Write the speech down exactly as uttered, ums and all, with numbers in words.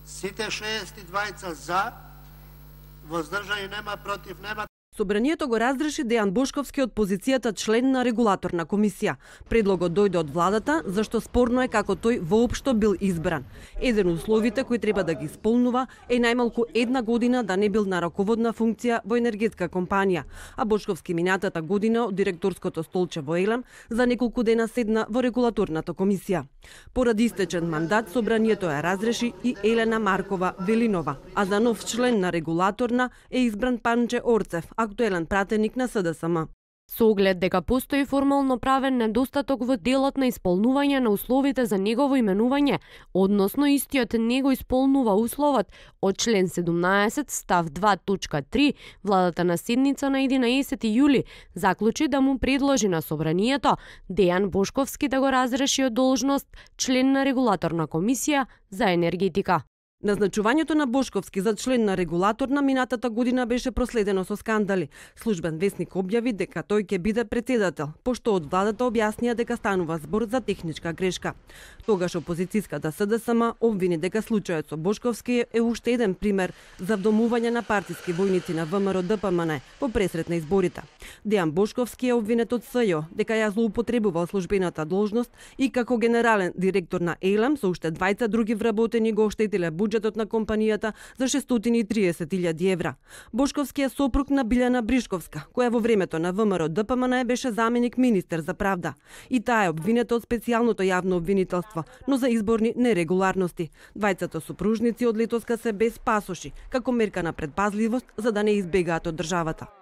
Сите шеесет и двајца за, воздржани нема, против нема. Собранието го разреши Дејан Бошковски од позицијата член на регулаторна комисија. Предлогот дојде од владата, зашто спорно е како тој воопшто бил избран. Еден од условите кои треба да ги исполнува е најмалку една година да не бил на раководна функција во енергетска компанија, а Бошковски минатата година од директорското столче во Елем за неколку дена седна во регулаторната комисија. Поради истечен мандат, собранието ја разреши и Елена Маркова Велинова, а за нов член на регулаторна е избран Панче Орцев, актуелен пратеник на С Д С М. Со оглед дека постои формално правен недостаток во делот на исполнување на условите за негово именување, односно истиот не го исполнува условот од член седумнаесет став два точка три, владата на седница на единаесети јули заклучи да му предложи на собранието Дејан Бошковски да го разреши од должност член на регулаторна комисија за енергетика. Назначувањето на Бошковски за член на регулаторна минатата година беше проследено со скандали. Службен весник објави дека тој ќе биде претседател, пошто од владата објаснија дека станува збор за техничка грешка. Тогаш опозицијската С Д С М обвини дека случајот со Бошковски е уште еден пример за вдомување на партиски војници на В М Р Д П М Н во пресрет на изборите. Дејан Бошковски е обвинет од С Ј О дека ја злоупотребувал службената должност и како генерален директор на Елем со уште двајца други вработени го оштетиле буџетот на компанијата за шестстотини и триесет илјади евра. Бошковски е сопруг на Билјана Бришковска, која во времето на В М Р Д П М Н беше заменик министер за правда. И таа е обвинета од специјалното јавно обвинителство, но за изборни нерегуларности. Двајцата супружници од летоска се без пасоши, како мерка на предпазливост за да не избегаат од државата.